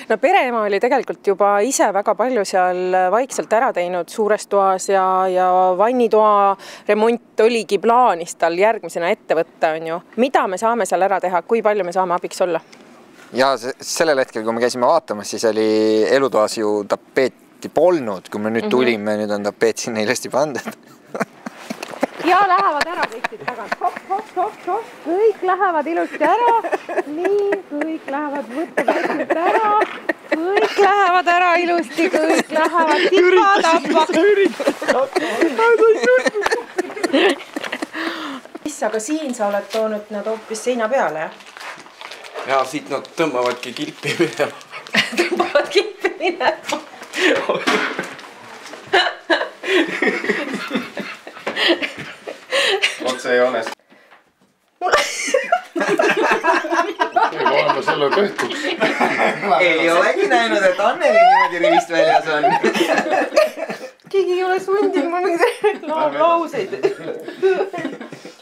No pereema oli tegelikult juba ise väga palju seal vaikselt ära teinud suures toas ja vannitoa remont oligi plaanis tal järgmisena ette võtta, on ju. Mida me saame seal ära teha, kui palju me saame abiks olla? Ja sellel hetkel, kui me käisime vaatamas, siis oli elutoas ju tapeeti polnud, kui me nüüd tulime, nüüd on tapeet sinna ilusti pandud. Ja lähevad ära kõik siit tagant. Hopp. Kõik lähevad ilusti ära. Nii, kõik lähevad võtta ära. Kõik lähevad ära ilusti, kõik lähevad tipa-tappa. Mis, aga siin sa oled toonud nad hoopis seina peale, jah? Ja, siit nad tõmbavadki kilpi minema. Tõmbavad kilpi minema. Otse joones. Oleme selle tehtud. Ei olegi näinud, et Anneli niimoodi rivist väljas on. Keegi ei ole sundinud mul mingi lauseid.